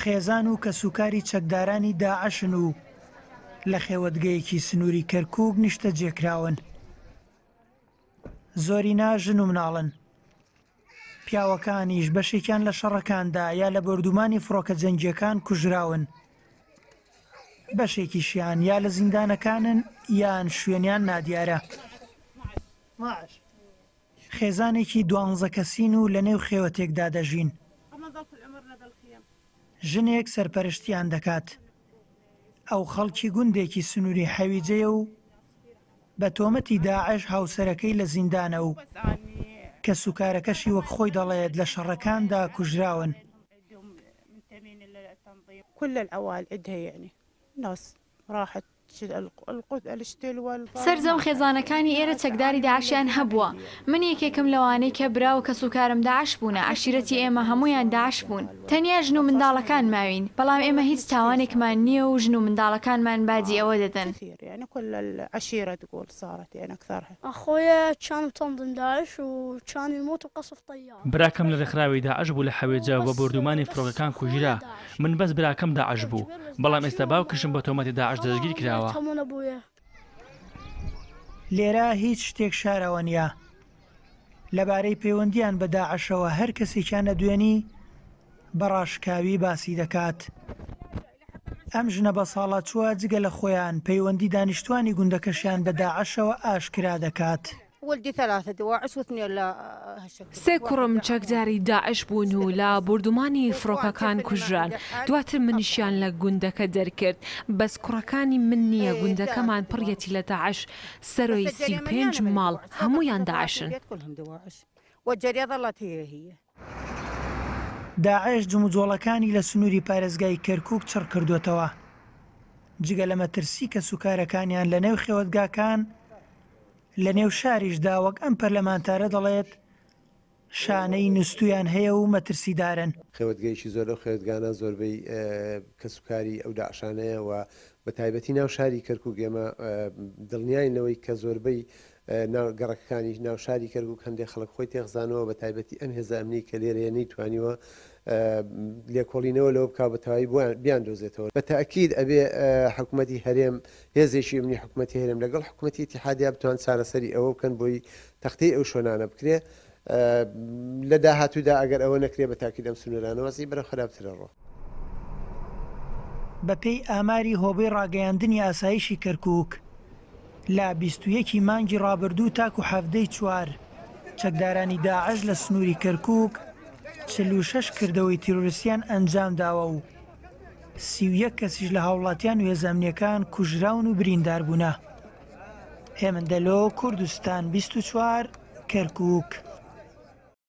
خێزان و کەسوکاری چەکدارانی داعشن و لە خێوەتگەیەکی سنووری کەرکووک نیشتەجێکراون. زۆرینە ژن و مناڵن. پیاوەکانیش بەشێکیان لە شەڕەکاندا یا لە بۆردومانی فڕۆکە جەنگییەکان کوژراون، بەشێکیشیان یا لە زیندانەکانن یان شوێنیان نادیارە. خێزانێکی دوانزە کەسین و لەنێو خێوەتێکدا دەژین. ژنێک سەرپەرشتییان دەکات. ئەو خەڵکی گوندێکی سنووری حەویجەیە و بە تۆمەتی داعش هاوسەرەکەی لە زیندانە و کەسوکارەکەشی وەک خۆی دەڵێت لە شەڕەکاندا کوژراون. سەرجەم خێزانەکانی ئێرە چەکداری داعشیان هەبووە، من یەکێکم لەوانەی کە برا و کەسوکارم داعش بوونە، عەشیرەتی ئێمە هەموویان داعش بوون، تەنیا ژن و منداڵەکان ماوین، بەڵام ئێمە هیچ تاوانێکمان نییە و ژن و منداڵەکانمان باجی ئەوە دەدەن. براکەم لە رێکخراوی داعش بوو لە حەویجە و بە بۆردومانی فڕۆکەکان کوژرا، من بەس براکەم داعش بوو، بەڵام ئێستا باوکیشم بە تۆمەتی داعش دەستگیر کراوە. لێرە هیچ شتێک شاراوە نییە لەبارەی پەیوەندییان بە داعشەوە، هەر کەسێکیان ئەدوێنی بە ڕاشکاوی باسی دەکات. ئەم ژنە بەساڵاچووە جگە لە خۆیان، پەیوەندی دانیشتوانی گوندەکەشیان بە داعشەوە ئاشکرا دەکات. سێ کوڕم چەکداری داعش بوون و لە بۆردومانی فڕۆکەکان کوژران، دواتر منیشیان لە گوندەکە دەرکرد، بەس کوڕەکانی من نییە، گوندەکەمان پڕیەتی لە داعش، سەرۆی 35 ماڵ هەموویان داعشن. داعش جموجۆڵەکانی لە سنووری پارێزگای کەرکووک چڕکردووەتەوە، جگە لە مەترسی کەسوکارەکانیان لەنێو خێوەتگاکان، لەنێو شاریشدا وەک ئەم پەرلەمانتارە دەڵێت، شانەی نوستوویان هەیە و مەترسیدارن. خێوەتگەیەکی زۆر لەو خێوەتگانە زۆربەی کەسوکاری ئەو داعشانەیە و بە تایبەتی ناو شاری کەرکوک ئێمە دڵنیاین لەوەی کە زۆربەی ناو گەڕەکەکانی ناو شاری کەرکوک هەندێک خەڵک خۆی تێخزانەوە بە تایبەتی ئەم هێزە ئەمنی کە لێرەیە نەیتوانیوە لێکۆڵینەوە لەوە بکا بە تەواوی بۆیان بیاندۆزێتەوە. بە تەئکید ئەبێ حکومەتی هەرێم هێزێکی ئەمنی حکومەتی هەرێم لەگەڵ حکومەتی ئیتیحادیا بتوان چارەسەری ئەوە بکەن بۆی تەختەی ئەو شوێنانە بکرێ لە داهاتوودا ئەگەر ئەوە نەکرێ بە تاکید ئەم سنوورانە وەزعی بەرەو خراپتر ئەڕۆ. بەپێی ئاماری هۆبەی ڕاگەیاندنی ئاسایشی کەرکووک، لە 21 ی مانگی ڕابردوو تاکو 17 ی چوار، چەکدارانی داعش لە سنووری کەرکووک 46 کردەوەی تیرۆریستیان ئەنجامداوە و 31 کەسیش لە هاوڵاتیان و هێزە ئەمنییەکان کوژراون و برینداربوونە. هێمن دەلۆ، کوردستان 24، کەرکووک.